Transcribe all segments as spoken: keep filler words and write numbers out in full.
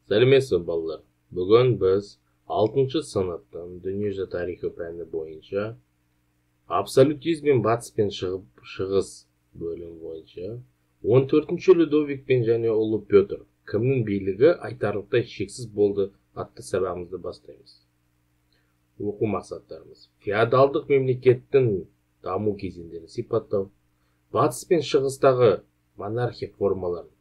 Сәлеметсіз балалар. Бүгін біз алтыншы сыныптың дүниежүзі тарихы пәні бойынша абсолютизм мен батыс пен шығыс бөлім бойынша он төртінші Людовик пен және ұлы Петр кімнің билігі айтарлықтай шексіз болды атты сабағымызды бастаймыз. Оқу мақсаттарымыз: феодалдық мемлекеттің даму кезеңдерін сипаттау, батыс пен шығыстағы монархия формаларын,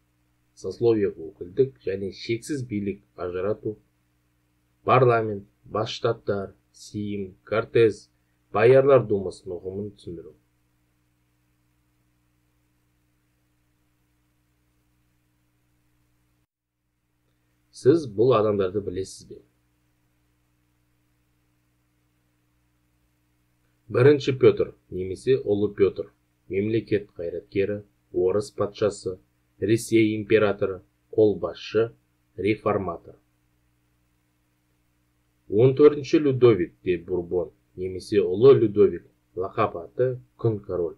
сословиялық өкілдік және шексіз билік ажырату, парламент, бас штаттар, сейм, кортез, боярлар думасының ұғымын түсіндіру. Сіз бұл адамдарды білесіз бе? Бірінші Петр, немесе ұлы Петр, мемлекет қайраткері, орыс патшасы, Ресей императоры, қолбасшы, реформатор. он төртінші Людовик де Бурбон, немесе ұлы Людовик, лақап аты күн король.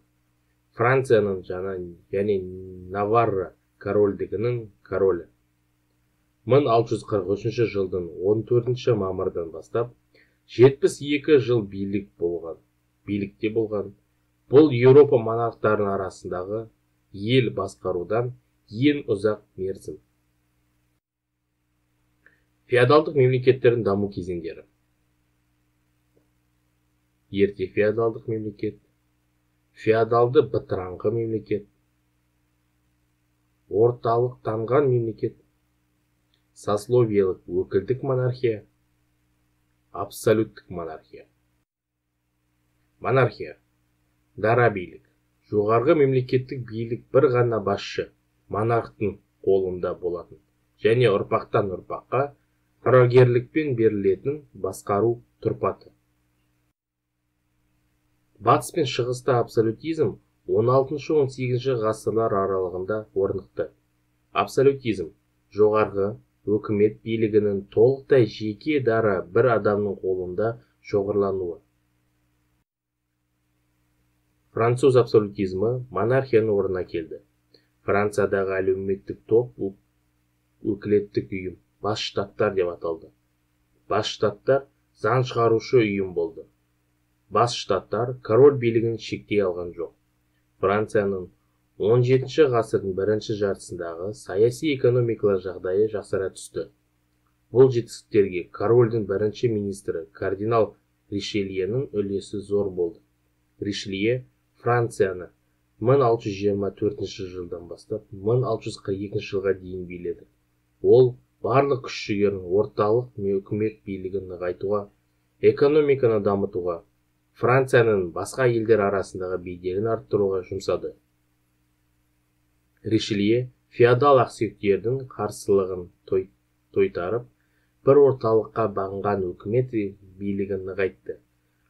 Францияның жаңа және Наварра корольдігінің королі. мың алты жүз қырық үшінші жылдың он төртінші мамырдан бастап жетпіс екі жыл билік болған. Билікте болған. Бұл Еуропа монархтарының арасындағы ел басқарудан ең ұзақ мерзім. Феодалдық мемлекеттердің даму кезеңдері. Ерте феодалдық мемлекет, феодалды бытыраңқы мемлекет, орталықтанған мемлекет, сословиялық өкілдік монархия, абсолюттік монархия. Монархия дара билік. Жоғарғы мемлекеттік билік бір ғана басшы, монархтың қолында болатын, және ұрпақтан ұрпаққа мұрагерлікпен берілетін басқару тұрпаты. Батыс пен шығыста абсолютизм он алтыншы он сегізінші ғасырлар аралығында орнықты. Абсолютизм жоғарғы өкімет билігінің толықтай жеке дара бір адамның қолында шоғырлануы. Француз абсолютизмі монархияның орнына келді. Франциядағы әлеуметтік топ өкілеттік ұйым, бас штаттар деп аталды. Бас штаттар заң шығарушы ұйым болды. Бас штаттар король билігін шектей алған жоқ. Францияның он жетінші ғасырдың бірінші жартысындағы саяси экономикалық жағдайы жақсара түсті. Бұл жетістіктерге корольдің бірінші министрі кардинал Ришельенің үлесі зор болды. Ришелье Францияны мың алты жүз жиырма төртінші жылдан бастап мың алты жүз қырық екінші жылға дейін биледі. Ол барлық күш-жігерін орталық үкімет билігін нығайтуға, экономиканы дамытуға, Францияның басқа елдер арасындағы беделін арттыруға жұмсады. Ришелье феодал ақсүйектердің қарсылығын тойтарып, бір орталыққа бағынған үкімет билігін нығайтты.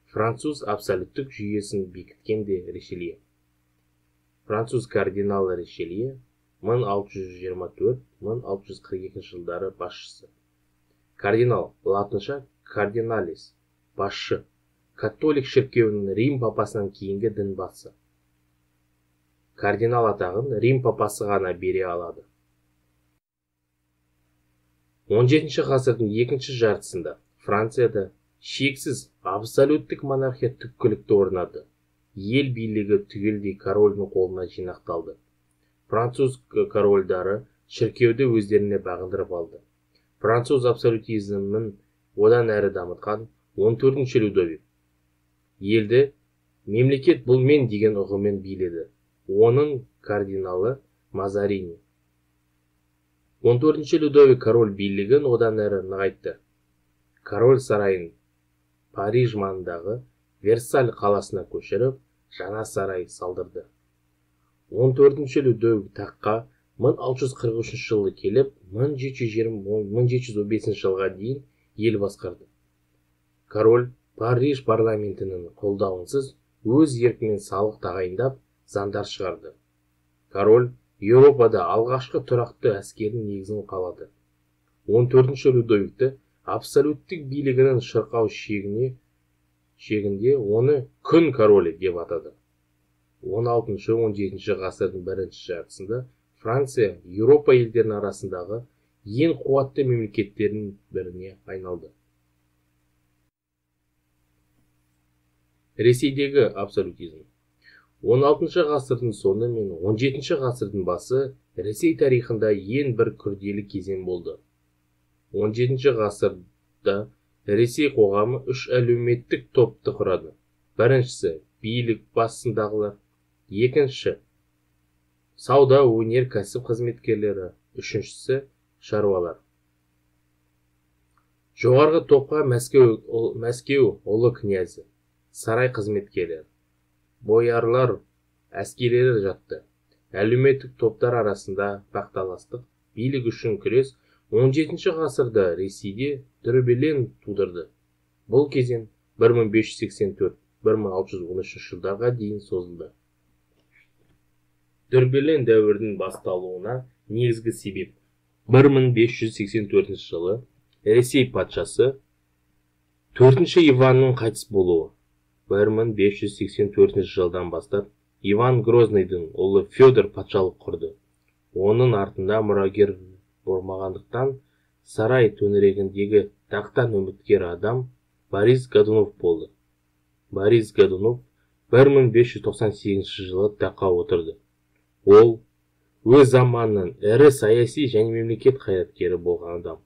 Француз абсолюттік жүйесін бекіткен де Ришелье. Француз кардиналы Ришелье мың алты жүз жиырма төрт мың алты жүз қырық екінші жылдары басшысы. Кардинал латынша кардиналис, басшы, католик шіркеуінің Рим папасынан кейінгі дін басы. Кардинал атағын Рим папасы ғана бере алады. он жетінші ғасырдың екінші жартысында Францияда шексіз абсолюттік монархия түпкілікті орнады. Ел билігі түгелдей корольдің қолына жинақталды. Француз корольдары шіркеуді өздеріне бағындырып алды. Француз абсолютизмін одан әрі дамытқан он төртінші Людовик елді мемлекет бұл мен деген ұғыммен биледі. Оның кардиналы Мазарини. он төртінші Людовик король билігін одан әрі нығайтты. Король сарайын Париж маңындағы Версаль қаласына көшіріп, жаңа сарай салдырды. он төртінші Людовик таққа мың алты жүз қырық үшінші жылы келіп, мың жеті жүз жиырма мың жеті жүз он бесінші жылға дейін ел басқарды. Король Париж парламентінің қолдауынсыз өз еркімен салық тағайындап, заңдар шығарды. Король Еуропада алғашқы тұрақты әскердің негізін қалады. он төртінші Людовикті абсолюттік билігінің шырқау шегіне шегінде оны күн королі деп атады. он алтыншы он жетінші ғасырдың бірінші жартысында Франция Еуропа елдерінің арасындағы ең қуатты мемлекеттердің біріне айналды. Ресейдегі абсолютизм. он алтыншы ғасырдың соңы мен он жетінші ғасырдың басы Ресей тарихында ең бір күрделі кезең болды. он жетінші ғасырда Ресей қоғамы үш әлеуметтік топты құрады. Біріншісі билік басындағылар, екінші сауда, өнер, кәсіп қызметкерлері, үшіншісі шаруалар. Жоғарғы топқа Мәскеу, Мәскеу ұлы князі, сарай қызметкерлері, боярлар, әскерилер жатты. Әлеуметтік топтар арасында бақталастық, билік үшін күрес он жетінші ғасырда Ресейде дүрбелең тудырды. Бұл кезең бір мың бес жүз сексен төрт - бір мың алты жүз он үшінші жылдарға дейін созылды. Дүрбелең дәуірдің басталуына негізгі себеп бір мың бес жүз сексен төртінші жылы Ресей патшасы төртінші Иванның қайтыс болуы. бір мың бес жүз сексен төртінші жылдан бастап Иван Грозныйдың ұлы Федор патшалық құрды. Оның артында мұрагер болмағандықтан сарай төңірегіндегі тақтан үміткер адам Борис Годунов болды. Борис Годунов бір мың бес жүз тоқсан сегізінші жылы таққа отырды. Ол өз заманының ірі саяси және мемлекет қайраткері болған адам.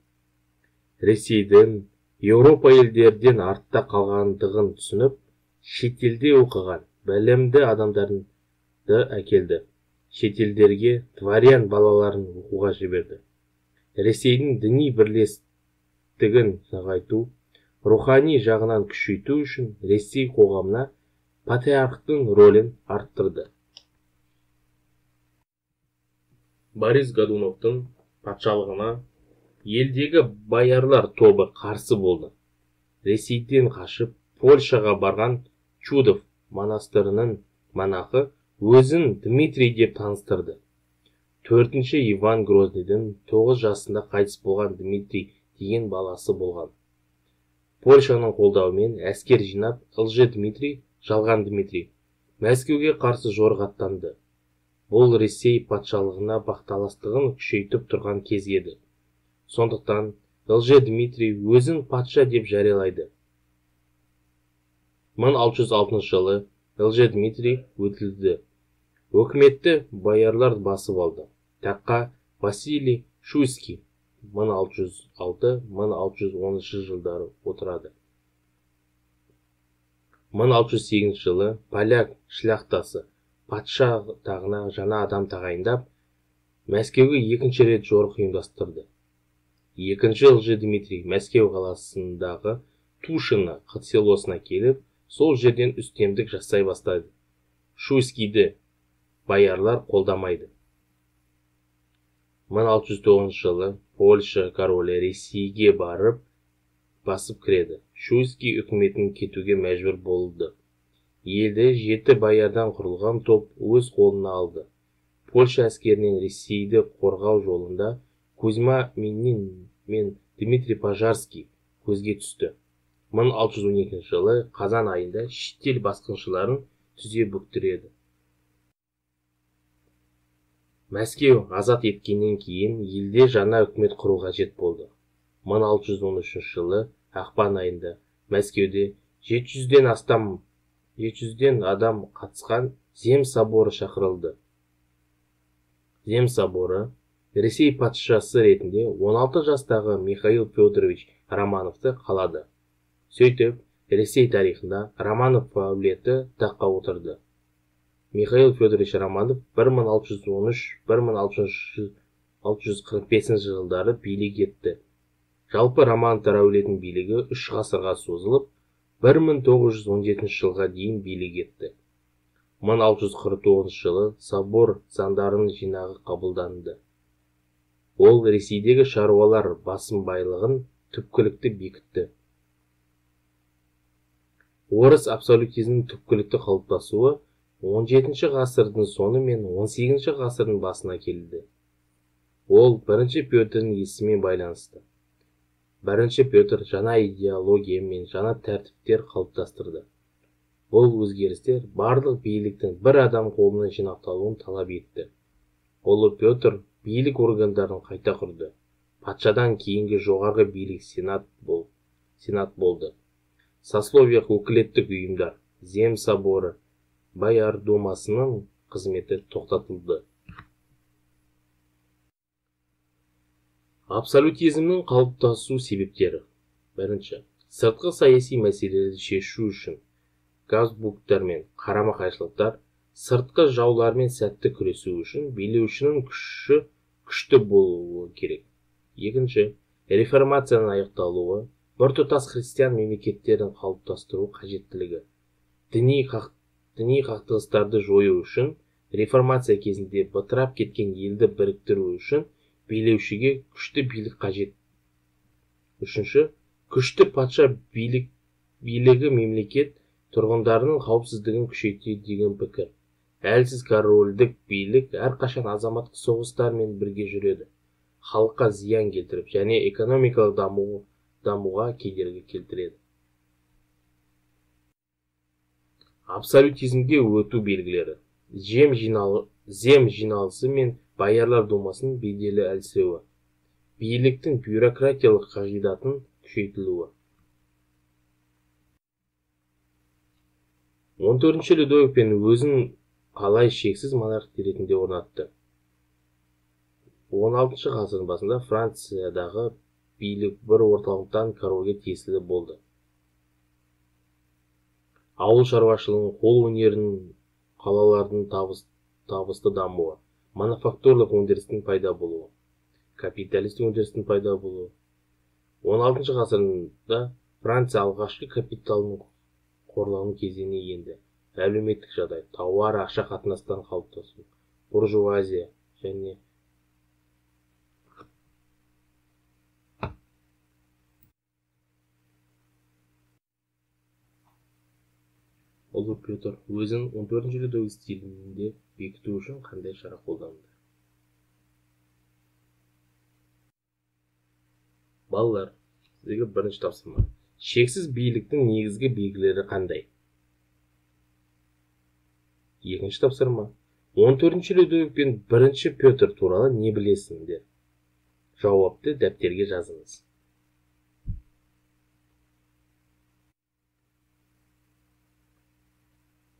Ресейдің Еуропа елдерден артта қалғандығын түсініп, шетелде оқыған білімді адамдарды әкелді. Шетелдерге дворян балаларын оқуға жіберді. Ресейдің діни бірлестігін нығайту, рухани жағынан күшейту үшін Ресей қоғамына патриархтың рөлін арттырды. Борис Годуновтың патшалығына елдегі боярлар тобы қарсы болды. Ресейден қашып Польшаға барған Чудов монастырының монахы өзін Дмитрий деп таныстырды. Төртінші Иван Грознийдің тоғыз жасында қайтыс болған Дмитрий деген баласы болған. Польшаның қолдауымен әскер жинап, ылжи Дмитрий, жалған Дмитрий, Мәскеуге қарсы жорға аттанды. Бұл Ресей патшалығына бақталастығын күшейтіп тұрған кез еді. Сондықтан ылжи Дмитрий өзін патша деп жариялайды. мың алты жүз алтыншы жылы ылжи Дмитрий өтілді. Өкіметті боярлар басып алды. Таққа Василий Шуйский мың алты жүз алты - мың алты жүз оныншы жылдары отырады. мың алты жүз сегізінші жылы поляк шляхтасы патша тағына жаңа адам тағайындап, Мәскеуге екінші рет жорық ұйымдастырды. Екінші ылжи Дмитрий Мәскеу қаласындағы Тушино селосына келіп, сол жерден үстемдік жасай бастады. Шуйскийді боярлар қолдамайды. мың алты жүз тоғызыншы жылы Польша королі Ресейге барып басып кіреді. Шуйский үкіметін кетуге мәжбүр болды. Елді жеті боярдан құрылған топ өз қолына алды. Польша әскерінен Ресейді қорғау жолында Кузьма Минин мен Дмитрий Пожарский көзге түсті. мың алты жүз он екінші жылы қазан айында шетел басқыншыларын түзе бүктіреді. Мәскеу азат еткеннен кейін елде жаңа үкімет құру қажет болды. мың алты жүз он үшінші жылы ақпан айында Мәскеуде жеті жүзден астам жеті жүзден адам қатысқан Зем соборы шақырылды. Зем соборы Ресей патшасы ретінде он алты жастағы Михаил Федорович Романовты қалады. Сөйтіп, Ресей тарихында Романов әулеті таққа отырды. Михаил Федорович Романов бір мың алты жүз он үш - бір мың алты жүз қырық бесінші жылдары билік етті. Жалпы Романовтар әулетінің билігі үш ғасырға созылып, бір мың тоғыз жүз он жетінші жылға дейін билік етті. мың алты жүз қырық тоғызыншы жылы собор заңдарының жинағы қабылданды. Ол Ресейдегі шаруалар басым байлығын түпкілікті бекітті. Орыс абсолютизмінің түпкілікті қалыптасуы он жетінші ғасырдың соңы мен он сегізінші ғасырдың басына келді. Ол бірінші Петрдің есімімен байланысты. Бірінші Петр жаңа идеология мен жаңа тәртіптер қалыптастырды. Бұл өзгерістер барлық биліктің бір адам қолына жинақталуын талап етті. Ұлы Петр билік органдарын қайта құрды. Патшадан кейінгі жоғарғы билік сенат бол, сенат болды. Сословиялық өкілеттік ұйымдар, Зем соборы, Бояр думасының қызметі тоқтатылды. Абсолютизмнің қалыптасу себептері. Бірінші, сыртқы саяси мәселелерді шешу үшін Габсбургтар мен қарама-қайшылықтар сыртқы жаулармен сәтті күресу үшін билеушінің күші күшті болуы керек. Екінші, реформацияның аяқталуы, біртұтас христиан мемлекеттерін қалыптастыру қажеттілігі. Діни қақ, діни қақтығыстарды жою үшін реформация кезінде бытырап кеткен елді біріктіру үшін билеушіге күшті билік қажет. Үшінші, күшті патша билік, билігі мемлекет тұрғындарының қауіпсіздігін күшейтеді деген пікір. Әлсіз корольдік билік әрқашан азаматтық соғыстармен бірге жүреді, халыққа зиян келтіріп және экономикалық даму, дамуға кедергі келтіреді. Абсолютизмге өту белгілері. Зем жиналы, зем жиналысы мен Боярлар думасының беделі әлсіреуі. Биліктің бюрократиялық қағидатын күшейтілуі. он төртінші Людовик пен өзін қалай шексіз монарх ретінде орнатты. он алтыншы ғасырдың басында Франциядағы билік бір орталықтан корольге тиесілі болды. Ауыл шаруашылығының, қол өнерінің, қалалардың табыс, табысты дамуы, мануфактурлық өндірістің пайда болуы, капиталистік өндірістің пайда болуы. он алтыншы ғасырда Франция алғашқы капиталының қорлану кезеңіне енді. Әлеуметтік жағдай, тауар ақша қатынастан қалыптасу, буржуазия және Ұлы Петр өзін он төртінші Людовик стилінде бекіту үшін қандай шара қолданды? Балалар, сізге бірінші тапсырма. Шексіз биліктің негізгі белгілері қандай? Екінші тапсырма. он төртінші Людовик пен бірінші Петр туралы не білесіңдер? Жауапты дәптерге жазыңыз.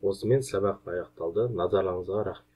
Осымен сабақ аяқталды. Назарларыңызға рахмет.